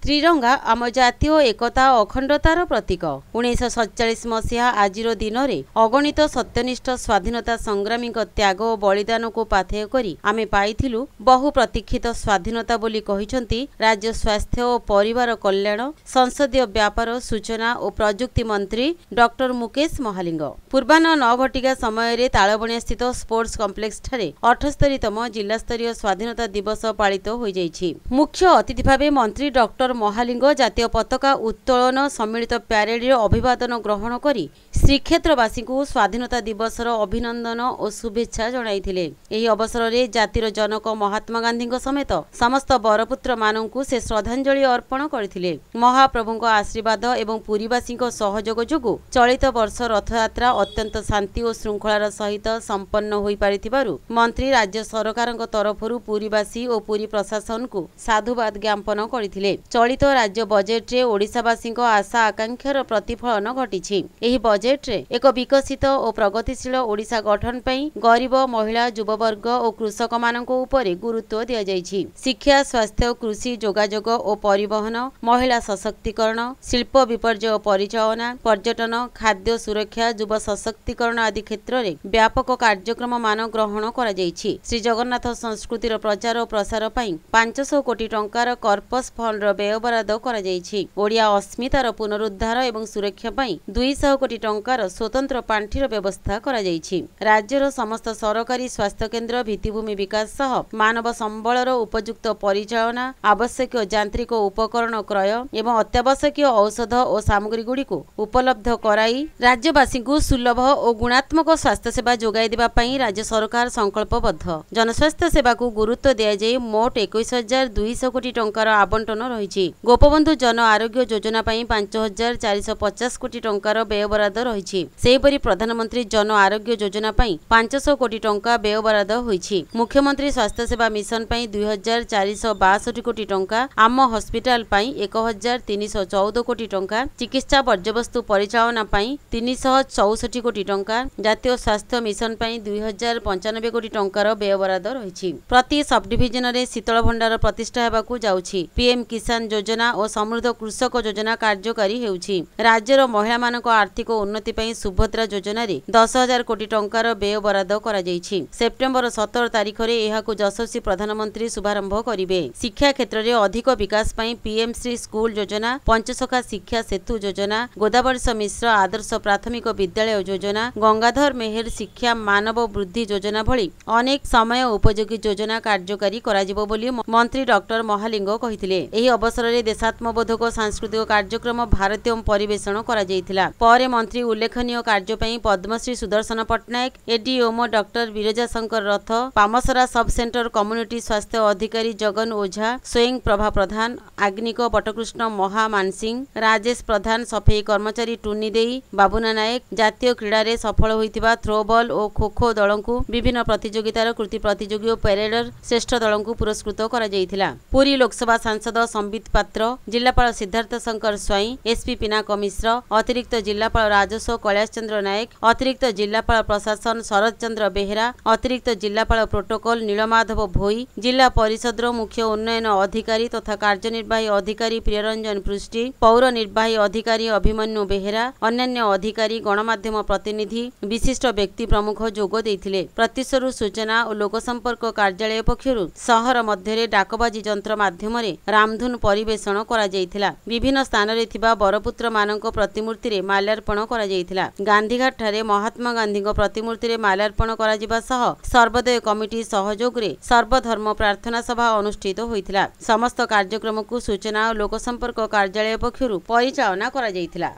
ତ୍ରିରଙ୍ଗା ଆମ ଜାତୀୟ ଏକତା ଓ ଅଖଣ୍ଡତାର ପ୍ରତୀକ। 1947 ମସିହା ଆଜିର ଦିନରେ ଅଗଣିତ ସତ୍ୟନିଷ୍ଠ ସ୍ୱାଧୀନତା ସଂଗ୍ରାମୀଙ୍କ ତ୍ୟାଗ ଓ ବଳିଦାନକୁ ପାଥେୟ କରି ଆମେ ପାଇଥିଲୁ ବହୁ ପ୍ରତୀକ୍ଷିତ ସ୍ୱାଧୀନତା ବୋଲି କହିଛନ୍ତି ରାଜ୍ୟ ସ୍ୱାସ୍ଥ୍ୟ ଓ ପରିବାର କଲ୍ୟାଣ, ସଂସଦୀୟ ବ୍ୟାପାର, ସୂଚନା ଓ ପ୍ରଯୁକ୍ତି ମନ୍ତ୍ରୀ ଡକ୍ଟର ମୁକେଶ ମହାଲିଙ୍ଗ। ପୂର୍ବାହ୍ନ 9 ଘଟିକା ସମୟରେ ତାଳବଣିଆସ୍ଥିତ ସ୍ପୋର୍ଟସ କମ୍ପ୍ଲେକ୍ସଠାରେ 78ତମ ଜିଲ୍ଲାସ୍ତରୀୟ ସ୍ୱାଧୀନତା ଦିବସ ପାଳିତ ହୋଇଯାଇଛି। ମୁଖ୍ୟ ଅତିଥି ଭାବେ ମନ୍ତ୍ରୀ ଡକ୍ଟର ମହାଲିଙ୍ଗ ଜାତୀୟ ପତାକା ଉତ୍ତୋଳନ, ସମ୍ମିଳିତ ପ୍ୟାରେଡରେ ଅଭିବାଦନ ଗ୍ରହଣ କରି ଶ୍ରୀକ୍ଷେତ୍ରବାସୀଙ୍କୁ ସ୍ୱାଧୀନତା ଦିବସର ଅଭିନନ୍ଦନ ଓ ଶୁଭେଚ୍ଛା ଜଣାଇଥିଲେ। ଏହି ଅବସରରେ ଜାତିର ଜନକ ମହାତ୍ମା ଗାନ୍ଧୀଙ୍କ ସମେତ ସମସ୍ତ ବରପୁତ୍ରମାନଙ୍କୁ ସେ ଶ୍ରଦ୍ଧାଞ୍ଜଳି ଅର୍ପଣ କରିଥିଲେ। ମହାପ୍ରଭୁଙ୍କ ଆଶୀର୍ବାଦ ଏବଂ ପୁରୀବାସୀଙ୍କ ସହଯୋଗ ଯୋଗୁଁ ଚଳିତ ବର୍ଷ ରଥଯାତ୍ରା ଅତ୍ୟନ୍ତ ଶାନ୍ତି ଓ ଶୃଙ୍ଖଳାର ସହିତ ସମ୍ପନ୍ନ ହୋଇପାରିଥିବାରୁ ମନ୍ତ୍ରୀ ରାଜ୍ୟ ସରକାରଙ୍କ ତରଫରୁ ପୁରୀବାସୀ ଓ ପୁରୀ ପ୍ରଶାସନକୁ ସାଧୁବାଦ ଜ୍ଞାପନ କରିଥିଲେ। ଚଳିତ ରାଜ୍ୟ ବଜେଟରେ ଓଡ଼ିଶାବାସୀଙ୍କ ଆଶା ଆକାଂକ୍ଷାର ପ୍ରତିଫଳନ ଘଟିଛି। ଏହି ବଜେଟରେ ଏକ ବିକଶିତ ଓ ପ୍ରଗତିଶୀଳ ଓଡ଼ିଶା ଗଠନ ପାଇଁ ଗରିବ, ମହିଳା, ଯୁବବର୍ଗ ଓ କୃଷକମାନଙ୍କ ଉପରେ ଗୁରୁତ୍ୱ ଦିଆଯାଇଛି। ଶିକ୍ଷା, ସ୍ୱାସ୍ଥ୍ୟ, କୃଷି, ଯୋଗାଯୋଗ ଓ ପରିବହନ, ମହିଳା ସଶକ୍ତିକରଣ, ଶିଳ୍ପ ବିପର୍ଯ୍ୟୟ ପରିଚାଳନା, ପର୍ଯ୍ୟଟନ, ଖାଦ୍ୟ ସୁରକ୍ଷା, ଯୁବ ସଶକ୍ତିକରଣ ଆଦି କ୍ଷେତ୍ରରେ ବ୍ୟାପକ କାର୍ଯ୍ୟକ୍ରମମାନ ଗ୍ରହଣ କରାଯାଇଛି। ଶ୍ରୀଜଗନ୍ନାଥ ସଂସ୍କୃତିର ପ୍ରଚାର ଓ ପ୍ରସାର ପାଇଁ 500 କୋଟି ଟଙ୍କାର କର୍ପସ ଫଣ୍ଡର ବ୍ୟୟବରାଦ କରାଯାଇଛି। ଓଡ଼ିଆ ଅସ୍ମିତାର ପୁନରୁଦ୍ଧାର ଏବଂ ସୁରକ୍ଷା ପାଇଁ 200 କୋଟି ଟଙ୍କାର ସ୍ୱତନ୍ତ୍ର ପାଣ୍ଠିର ବ୍ୟବସ୍ଥା କରାଯାଇଛି। ରାଜ୍ୟର ସମସ୍ତ ସରକାରୀ ସ୍ୱାସ୍ଥ୍ୟକେନ୍ଦ୍ର ଭିତ୍ତିଭୂମି ବିକାଶ ସହ ମାନବ ସମ୍ବଳର ଉପଯୁକ୍ତ ପରିଚାଳନା, ଆବଶ୍ୟକୀୟ ଯାନ୍ତ୍ରିକ ଉପକରଣ କ୍ରୟ ଏବଂ ଅତ୍ୟାବଶ୍ୟକୀୟ ଔଷଧ ଓ ସାମଗ୍ରୀଗୁଡ଼ିକୁ ଉପଲବ୍ଧ କରାଇ ରାଜ୍ୟବାସୀଙ୍କୁ ସୁଲଭ ଓ ଗୁଣାତ୍ମକ ସ୍ୱାସ୍ଥ୍ୟସେବା ଯୋଗାଇ ଦେବା ପାଇଁ ରାଜ୍ୟ ସରକାର ସଂକଳ୍ପବଦ୍ଧ। ଜନସ୍ୱାସ୍ଥ୍ୟ ସେବାକୁ ଗୁରୁତ୍ୱ ଦିଆଯାଇ ମୋଟ 21,200 କୋଟି ଟଙ୍କାର ଆବଣ୍ଟନ ରହିଛି। ଗୋପବନ୍ଧୁ ଜନ ଆରୋଗ୍ୟ ଯୋଜନା ପାଇଁ 5,450 କୋଟି ଟଙ୍କାର ବ୍ୟୟବରାଦ ରହିଛି। ସେହିପରି ପ୍ରଧାନମନ୍ତ୍ରୀ ଜନ ଆରୋଗ୍ୟ ଯୋଜନା ପାଇଁ 500 କୋଟି ଟଙ୍କା ବ୍ୟୟବରାଦ ହୋଇଛି। ମୁଖ୍ୟମନ୍ତ୍ରୀ ସ୍ୱାସ୍ଥ୍ୟସେବା ମିଶନ ପାଇଁ 2,462 କୋଟି ଟଙ୍କା, ଆମ ହସ୍ପିଟାଲ ପାଇଁ 1,314 କୋଟି ଟଙ୍କା, ଚିକିତ୍ସା ବର୍ଜ୍ୟବସ୍ତୁ ପରିଚାଳନା ପାଇଁ 364 କୋଟି ଟଙ୍କା, ଜାତୀୟ ସ୍ୱାସ୍ଥ୍ୟ ମିଶନ ପାଇଁ 2,095 କୋଟି ଟଙ୍କାର ବ୍ୟୟବରାଦ ରହିଛି। ପ୍ରତି ସବଡିଭିଜନରେ ଶୀତଳ ଭଣ୍ଡାର ପ୍ରତିଷ୍ଠା ହେବାକୁ ଯାଉଛି। ପିଏମ୍ କିଷାନ ଯୋଜନା ଓ ସମୃଦ୍ଧ କୃଷକ ଯୋଜନା କାର୍ଯ୍ୟକାରୀ ହେଉଛି। ରାଜ୍ୟର ମହିଳାମାନଙ୍କ ଆର୍ଥିକ ଉନ୍ନତି ପାଇଁ ସୁଭଦ୍ରା ଯୋଜନାରେ 10,000 କୋଟି ଟଙ୍କାର ବ୍ୟୟବରାଦ କରାଯାଇଛି। ସେପ୍ଟେମ୍ବର 17 ତାରିଖରେ ଏହାକୁ ଯଶସ୍ୱୀ ପ୍ରଧାନମନ୍ତ୍ରୀ ଶୁଭାରମ୍ଭ କରିବେ। ଶିକ୍ଷା କ୍ଷେତ୍ରରେ ଅଧିକ ବିକାଶ ପାଇଁ ପିଏମ୍ ଶ୍ରୀ ସ୍କୁଲ ଯୋଜନା, ପଞ୍ଚସଖା ଶିକ୍ଷା ସେତୁ ଯୋଜନା, ଗୋଦାବରୀଶ ମିଶ୍ର ଆଦର୍ଶ ପ୍ରାଥମିକ ବିଦ୍ୟାଳୟ ଯୋଜନା, ଗଙ୍ଗାଧର ମେହେର ଶିକ୍ଷା ମାନବ ବୃଦ୍ଧି ଯୋଜନା ଭଳି ଅନେକ ସମୟ ଉପଯୋଗୀ ଯୋଜନା କାର୍ଯ୍ୟକାରୀ କରାଯିବ ବୋଲି ମନ୍ତ୍ରୀ ଡକ୍ଟର ମହାଲିଙ୍ଗ କହିଥିଲେ। ଏହି ଅବସରରେ ଦେଶାତ୍ମବୋଧକ ସାଂସ୍କୃତିକ କାର୍ଯ୍ୟକ୍ରମ ଭାରତୀୟ ପରିବେଷଣ କରାଯାଇଥିଲା। ପରେ ମନ୍ତ୍ରୀ ଉଲ୍ଲେଖନୀୟ କାର୍ଯ୍ୟ ପାଇଁ ପଦ୍ମଶ୍ରୀ ସୁଦର୍ଶନ ପଟ୍ଟନାୟକ, ଏଡିଓମୋ ଡକ୍ଟର ବିରଜା ଶଙ୍କର ରଥ, ପାମସରା ସବ୍ ସେଣ୍ଟର କମ୍ୟୁନିଟି ସ୍ୱାସ୍ଥ୍ୟ ଅଧିକାରୀ ଜଗନ ଓଝା, ସ୍ୱୟଂ ପ୍ରଭା ପ୍ରଧାନ, ଆଗ୍ନିକ ବଟକୃଷ୍ଣ ମହାମାନସିଂ, ରାଜେଶ ପ୍ରଧାନ, ସଫେଇ କର୍ମଚାରୀ ଟୁନି ଦେଇ, ବାବୁନା ନାୟକ, ଜାତୀୟ କ୍ରୀଡ଼ାରେ ସଫଳ ହୋଇଥିବା ଥ୍ରୋବଲ୍ ଓ ଖୋଖୋ ଦଳଙ୍କୁ ବିଭିନ୍ନ ପ୍ରତିଯୋଗିତାର କୃତି ପ୍ରତିଯୋଗୀ ଓ ପ୍ୟାରେଡର ଶ୍ରେଷ୍ଠ ଦଳଙ୍କୁ ପୁରସ୍କୃତ କରାଯାଇଥିଲା। ପୁରୀ ଲୋକସଭା ସାଂସଦ ସମ୍ବିତ ପାତ୍ର, ଜିଲ୍ଲାପାଳ ସିଦ୍ଧାର୍ଥ ଶଙ୍କର ସ୍ୱାଇଁ, ଏସ୍ପି ପିନାକ ମିଶ୍ର, ଅତିରିକ୍ତ ଜିଲ୍ଲାପାଳ ରାଜସ୍ୱ କୈଳାସ ଚନ୍ଦ୍ର ନାୟକ, ଅତିରିକ୍ତ ଜିଲ୍ଲାପାଳ ପ୍ରଶାସନ ଶରତ ଚନ୍ଦ୍ର ବେହେରା, ଅତିରିକ୍ତ ଜିଲ୍ଲାପାଳ ପ୍ରୋଟୋକଲ ନୀଳମାଧବ ଭୋଇ, ଜିଲ୍ଲା ପରିଷଦର ମୁଖ୍ୟ ଉନ୍ନୟନ ଅଧିକାରୀ ତଥା କାର୍ଯ୍ୟନିର୍ବାହୀ ଅଧିକାରୀ ପ୍ରିୟରଞ୍ଜନ ପୃଷ୍ଟି, ପୌର ନିର୍ବାହୀ ଅଧିକାରୀ ଅଭିମନ୍ୟୁ ବେହେରା, ଅନ୍ୟାନ୍ୟ ଅଧିକାରୀ, ଗଣମାଧ୍ୟମ ପ୍ରତିନିଧି, ବିଶିଷ୍ଟ ବ୍ୟକ୍ତି ପ୍ରମୁଖ ଯୋଗ ଦେଇଥିଲେ। ପ୍ରତ୍ୟୁଷରୁ ସୂଚନା ଓ ଲୋକସମ୍ପର୍କ କାର୍ଯ୍ୟାଳୟ ପକ୍ଷରୁ ସହର ମଧ୍ୟରେ ଡାକବାଜି ଯନ୍ତ୍ର ମାଧ୍ୟମରେ ରାମଧୁନ ପରିବେଷଣ କରାଯାଇଥିଲା। ବିଭିନ୍ନ ସ୍ଥାନରେ ଥିବା ବରପୁତ୍ରମାନଙ୍କ ପ୍ରତିମୂର୍ତ୍ତିରେ ମାଲ୍ୟାର୍ପଣ କରାଯାଇଥିଲା। ଗାନ୍ଧୀଘାଟଠାରେ ମହାତ୍ମା ଗାନ୍ଧୀଙ୍କ ପ୍ରତିମୂର୍ତ୍ତିରେ ମାଲ୍ୟାର୍ପଣ କରାଯିବା ସହ ସର୍ବୋଦୟ କମିଟି ସହଯୋଗରେ ସର୍ବଧର୍ମ ପ୍ରାର୍ଥନା ସଭା ଅନୁଷ୍ଠିତ ହୋଇଥିଲା। ସମସ୍ତ କାର୍ଯ୍ୟକ୍ରମକୁ ସୂଚନା ଓ ଲୋକସମ୍ପର୍କ କାର୍ଯ୍ୟାଳୟ ପକ୍ଷରୁ ପରିଚାଳନା କରାଯାଇଥିଲା।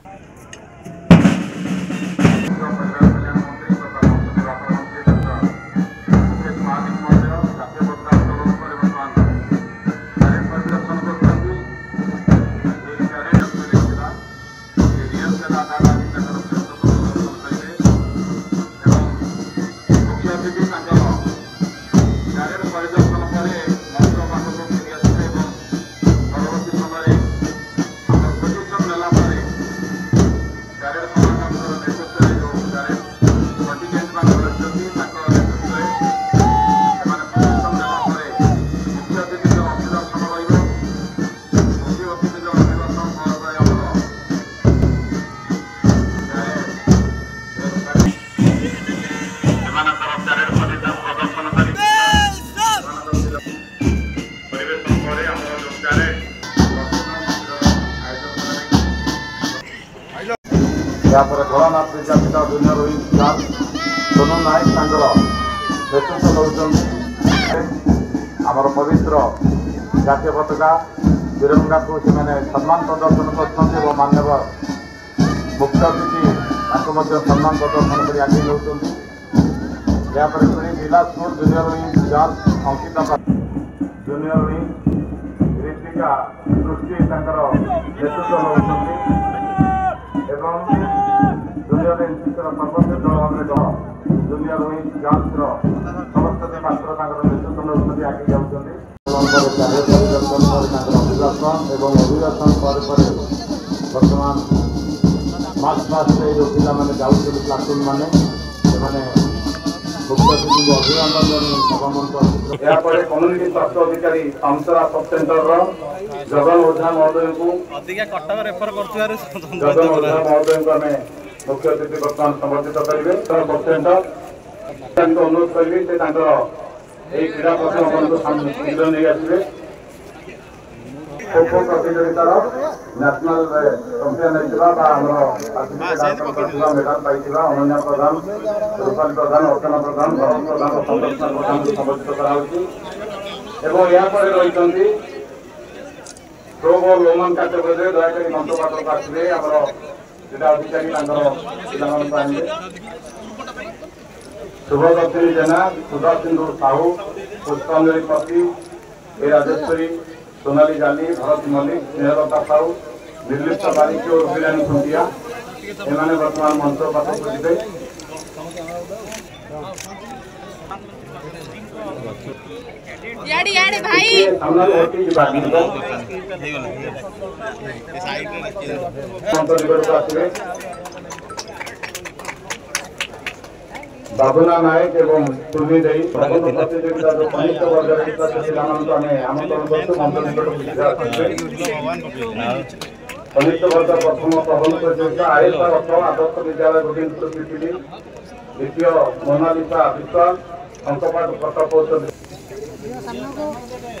ପରିବାର କଲ୍ୟାଣ ମନ୍ତ୍ରୀ ତଥା ସଂସଦୀୟ ବ୍ୟାପାର ମନ୍ତ୍ରୀ ଡକ୍ଟର ମୁକେଶ ମହାଲିଙ୍ଗ ମହୋଦୟ ଜାତୀୟ ପତାକା ଉତ୍ତୋଳନ କରି ବର୍ତ୍ତମାନ ପ୍ୟାରେଡ୍ ପରିଦର୍ଶନ କରୁଛନ୍ତି। ଏହି ପ୍ୟାରେଡ୍ ଥିଲା ରିହର୍ସାଲ ଆଧାରରେ ଆଜି ତାଙ୍କର ଖେଳକୁ ପ୍ରଦର୍ଶନ କରିବେ ଏବଂ ମୁଖ୍ୟ ଅତିଥି ତାଙ୍କର ପ୍ୟାରେଡ୍ ପରିଦର୍ଶନ ପରେ ମଞ୍ଚ ପାଖକୁ ଫେରି ଆସିବେ ଏବଂ ପରବର୍ତ୍ତୀ ସମୟରେ ଆମର ପୋଜିସନ୍ ନେଲା ପରେ ଏହାପରେ Bholanath Vidyapith junior wing girls Sonu Nayak ତାଙ୍କର ନେତୃତ୍ୱ ନେଉଛନ୍ତି। ଆମର ପବିତ୍ର ଜାତୀୟ ପତାକା ତିରଙ୍ଗାକୁ ସେମାନେ ସମ୍ମାନ ପ୍ରଦର୍ଶନ କରୁଛନ୍ତି ଏବଂ ମାନ୍ୟବର ମୁଖ୍ୟ ଅତିଥି ତାଙ୍କୁ ମଧ୍ୟ ସମ୍ମାନ ପ୍ରଦର୍ଶନ କରି ଆଗେଇ ନେଉଛନ୍ତି। ଏହାପରେ ପୁଣି ଜିଲ୍ଲା school junior wing girls Ankita, junior wing Ritika Srushti ତାଙ୍କର ନେତୃତ୍ୱ ନେଉଛନ୍ତି ଏବଂ ଜୁନିୟର ଏନ୍ସିସିର ସର୍ବଶ୍ରେଷ୍ଠ ଦଳ ଭାବରେ ଦଳ ଜୁନିୟର ୱିଙ୍ଗ ଗାର୍ଲସର ସରସ୍ୱତୀ ପାତ୍ର ତାଙ୍କର ନେତୃତ୍ୱ ନେଉଛନ୍ତି, ଆଗେଇ ଯାଉଛନ୍ତି। ପରେ ପ୍ୟାରେଡ୍ ପରିଦର୍ଶନ ପରେ ତାଙ୍କର ଅଭିଭାଷଣ ଏବଂ ଅଭିଭାଷଣ ପରେ ପରେ ବର୍ତ୍ତମାନ ମାର୍ଚ୍ଚ ପାଷ୍ଟରେ ଯେଉଁ ପିଲାମାନେ ଯାଉଛନ୍ତି, ପ୍ଲାଟୁନ୍ ମାନେ, ସେମାନେ ମୁଖ୍ୟ ଅତିଥିଙ୍କୁ ଅଭିନନ୍ଦନ ଜଣାଇ ସଭାମଞ୍ଚ। ଏହାପରେ କମ୍ୟୁନିଟି ସ୍ୱାସ୍ଥ୍ୟ ଅଧିକାରୀ ପାମସରା ସବ୍ ସେଣ୍ଟରର ଜଗନ ଓଝା ମହୋଦୟଙ୍କୁ, ଜଗନ ଓଝା ମହୋଦୟଙ୍କୁ ଆମେ ମୁଖ୍ୟ ଅତିଥି ବର୍ତ୍ତମାନ ସମ୍ବର୍ଦ୍ଧିତ କରିବେ। ସବ୍ ସେଣ୍ଟର ତାଙ୍କୁ ଅନୁରୋଧ କରିବି, ସେ ତାଙ୍କର ଏହି କ୍ରୀଡ଼ା ପ୍ରସଙ୍ଗକୁ ଶୀଘ୍ର ନେଇ ଆସିବେ। ଖୋ ଖୋ ପ୍ରତିଯୋଗିତାର ନ୍ୟାସନାଲ ଚମ୍ପିଆନ ହେଇଥିବା ବା ଆମର କରିଥିବା, ମେଡାଲ ପାଇଥିବା ଅନନ୍ୟା ପ୍ରଧାନ, ରୂପାଲି ପ୍ରଧାନ, ଅର୍ଚ୍ଚନା ପ୍ରଧାନ, ଭରତ ପ୍ରଧାନ ଓ ସନ୍ତୋଷ ପ୍ରଧାନଙ୍କୁ ସମ୍ବର୍ଦ୍ଧିତ କରାଯାଉଛି। ଏବଂ ଏହାପରେ ରହିଛନ୍ତି ଥ୍ରୋ ବଲ୍ ଓମେନ୍ କାଟେଗୋରୀରେ। ଦୟାକରି ମଞ୍ଚ ପାଖକୁ ଆସିବେ, ଆମର କ୍ରୀଡ଼ା ଅଧିକାରୀ ତାଙ୍କର ପିଲାମାନଙ୍କୁ ଆଣିବେ। ଶୁଭଦର୍ଶିନୀ ଜେନା, ସୁଧାସିନ୍ଧୁ ସାହୁ, ପୁଷ୍ପାଞ୍ଜଳି ପତି, ଏ ରାଜେଶ୍ୱରୀ, ସୋନାଲି ଜାଲି, ଭରତ ମଲ୍ଲିକ, ସ୍ନେହଲତା ସାହୁ, ନିର୍ଲିପ୍ତ ବାରିକ ଓ ରୁବିରାଣୀ ଖୁଣ୍ଟିଆ, ଏମାନେ ବର୍ତ୍ତମାନ ମଞ୍ଚ ପାଖକୁ ଯିବେ। ସାମ୍ନାରୁ ହଟି ଯିବା, ମଞ୍ଚ ନିକଟକୁ ଆସିବେ। ବାବୁନା ନାୟକ ଏବଂ ସୁମି ଦେଇ ପ୍ରବନ୍ଧ ପ୍ରତିଯୋଗିତା ଯେଉଁ କନିଷ୍ଠ ବର୍ଗରେ ହେଇଥିଲା, ସେ ପିଲାମାନଙ୍କୁ ଆମେ ଆମନ୍ତ୍ରଣ କରୁଛୁ, ମଞ୍ଚ ନିକଟକୁ ଶୀଘ୍ର ଆସିବେ। କନିଷ୍ଠ ବର୍ଗ ପ୍ରଥମ ପ୍ରବନ୍ଧ ପ୍ରତିଯୋଗିତା ଆୟେଶା ରଥ, ଆଦର୍ଶ ବିଦ୍ୟାଳୟ ଗୋବିନ୍ଦପୁର ପିପିଲି, ଦ୍ୱିତୀୟ ମୋନାଲିସା ବିଶ୍ୱାଳ, ଶଙ୍କପାଟ ପ୍ରକଳ୍ପ ଉଚ୍ଚ।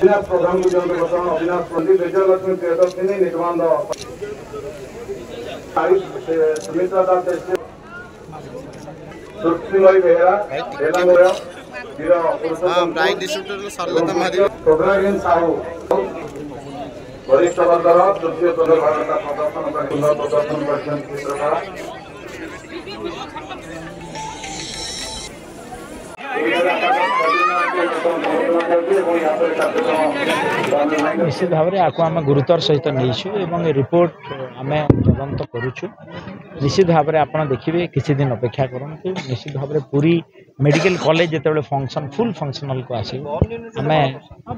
ଅବିନାଶ ପ୍ରଧାନଙ୍କୁ ଦିଅନ୍ତୁ ବର୍ତ୍ତମାନ। ଅବିନାଶ ପଣ୍ଡି, ବିଜୟଲକ୍ଷ୍ମୀ ପ୍ରିୟଦର୍ଶିନୀ, ନିଗମାନନ୍ଦ, ସୁମିତ୍ରା ଦାସ, ସୃଷ୍ଟିମୟୀ ବେହେରା, ବେଲାଙ୍ଗୟ ବୀର ପୁରୁଷୋତ୍ତମ ସାହୁ। ବରିଷ୍ଠ ବର୍ଗର ତୃତୀୟ ଚନ୍ଦ୍ରଭାଗତା ପ୍ରଦର୍ଶନ କରି ସୁନ୍ଦର ପ୍ରଦର୍ଶନ କରିଛନ୍ତି ଚିତ୍ରକଳା। ନିଶ୍ଚିତ ଭାବରେ ଆକୁ ଆମେ ଗୁରୁତ୍ୱର ସହିତ ନେଇଛୁ ଏବଂ ଏ ରିପୋର୍ଟ ଆମେ ତଦନ୍ତ କରୁଛୁ। ନିଶ୍ଚିତ ଭାବରେ ଆପଣ ଦେଖିବେ, କିଛି ଦିନ ଅପେକ୍ଷା କରନ୍ତୁ। ନିଶ୍ଚିତ ଭାବରେ ପୁରୀ ମେଡ଼ିକାଲ କଲେଜ ଯେତେବେଳେ ଫଙ୍କସନ୍ ଫୁଲ୍ ଫଙ୍କସନାଲକୁ ଆସିବ, ଆମେ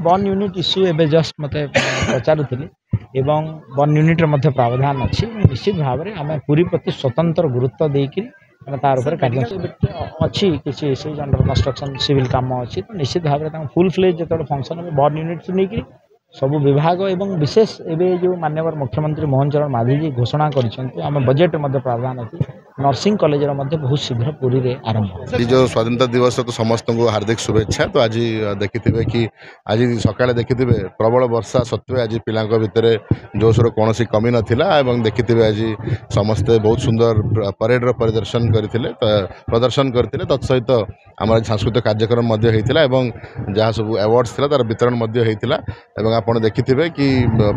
ବର୍ନ ୟୁନିଟ୍ ଇସ୍ୟୁ ଏବେ ଜଷ୍ଟ ମୋତେ ପଚାରୁଥିଲି ଏବଂ ବର୍ନ ୟୁନିଟ୍ର ମଧ୍ୟ ପ୍ରାବଧାନ ଅଛି। ନିଶ୍ଚିତ ଭାବରେ ଆମେ ପୁରୀ ପ୍ରତି ସ୍ୱତନ୍ତ୍ର ଗୁରୁତ୍ୱ ଦେଇକରି ଆମେ ତାର ଉପରେ କାର୍ଯ୍ୟ ଅଛି। କିଛି ଇସ୍ୟୁଜ୍ ଅଣ୍ଡର କନଷ୍ଟ୍ରକ୍ସନ୍, ସିଭିଲ୍ କାମ ଅଛି। ତ ନିଶ୍ଚିତ ଭାବରେ ତାଙ୍କ ଫୁଲ୍ ଫ୍ଲେଜ୍ ଯେତେବେଳେ ଫଙ୍କସନ୍ ହେବ, ବର୍ନ ୟୁନିଟ୍ଠୁ ନେଇକରି ସବୁ ବିଭାଗ ଏବଂ ବିଶେଷ ଏବେ ଯେଉଁ ମାନ୍ୟବର ମୁଖ୍ୟମନ୍ତ୍ରୀ ମୋହନ ଚରଣ ମାଝୀଜୀ ଘୋଷଣା କରିଛନ୍ତି, ଆମ ବଜେଟ୍ରେ ମଧ୍ୟ ପ୍ରାବଧାନ ଅଛି, ନର୍ସିଂ କଲେଜର ମଧ୍ୟ ବହୁତ ଶୀଘ୍ର ପୁରୀରେ ଆରମ୍ଭ। ଆଜି ଯେଉଁ ସ୍ୱାଧୀନତା ଦିବସ, ତ ସମସ୍ତଙ୍କୁ ହାର୍ଦ୍ଦିକ ଶୁଭେଚ୍ଛା। ତ ଆଜି ଦେଖିଥିବେ କି ଆଜି ସକାଳେ ଦେଖିଥିବେ, ପ୍ରବଳ ବର୍ଷା ସତ୍ତ୍ୱେ ଆଜି ପିଲାଙ୍କ ଭିତରେ ଜୋଶର କୌଣସି କମି ନଥିଲା ଏବଂ ଦେଖିଥିବେ ଆଜି ସମସ୍ତେ ବହୁତ ସୁନ୍ଦର ପରେଡ଼ର ପରିଦର୍ଶନ କରିଥିଲେ, ପ୍ରଦର୍ଶନ କରିଥିଲେ। ତତ୍ସହିତ ଆମର ଆଜି ସାଂସ୍କୃତିକ କାର୍ଯ୍ୟକ୍ରମ ମଧ୍ୟ ହେଇଥିଲା ଏବଂ ଯାହା ସବୁ ଆୱାର୍ଡ଼ସ୍ ଥିଲା ତାର ବିତରଣ ମଧ୍ୟ ହେଇଥିଲା। ଏବଂ ଆପଣ ଦେଖିଥିବେ କି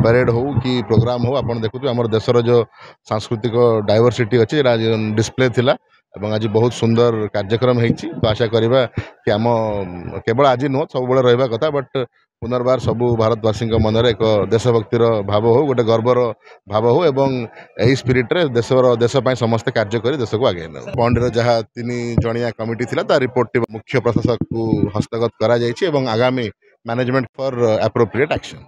ପରେଡ଼ ହଉ କି ପ୍ରୋଗ୍ରାମ ହଉ, ଆପଣ ଦେଖୁଥିବେ ଆମର ଦେଶର ଯେଉଁ ସାଂସ୍କୃତିକ ଡାଇଭରସିଟି ଅଛି, ଏଇଟା ଆଜି ଡିସପ୍ଲେ ଥିଲା ଏବଂ ଆଜି ବହୁତ ସୁନ୍ଦର କାର୍ଯ୍ୟକ୍ରମ ହେଇଛି। ତ ଆଶା କରିବା କି ଆମ କେବଳ ଆଜି ନୁହଁ, ସବୁବେଳେ ରହିବା କଥା, ବଟ୍ ପୁନର୍ବାର ସବୁ ଭାରତବାସୀଙ୍କ ମନରେ ଏକ ଦେଶଭକ୍ତିର ଭାବ ହଉ, ଗୋଟେ ଗର୍ବର ଭାବ ହଉ ଏବଂ ଏହି ସ୍ପିରିଟ୍ରେ ଦେଶର ଦେଶ ପାଇଁ ସମସ୍ତେ କାର୍ଯ୍ୟ କରି ଦେଶକୁ ଆଗେଇ ନେବୁ। ପଣ୍ଡିର ଯାହା 3 ଜଣିଆ କମିଟି ଥିଲା, ତା ରିପୋର୍ଟଟି ମୁଖ୍ୟ ପ୍ରଶାସକକୁ ହସ୍ତଗତ କରାଯାଇଛି ଏବଂ ଆଗାମୀ ମ୍ୟାନେଜମେଣ୍ଟ ଫର୍ ଆପ୍ରୋପ୍ରିଏଟ୍ ଆକ୍ସନ୍।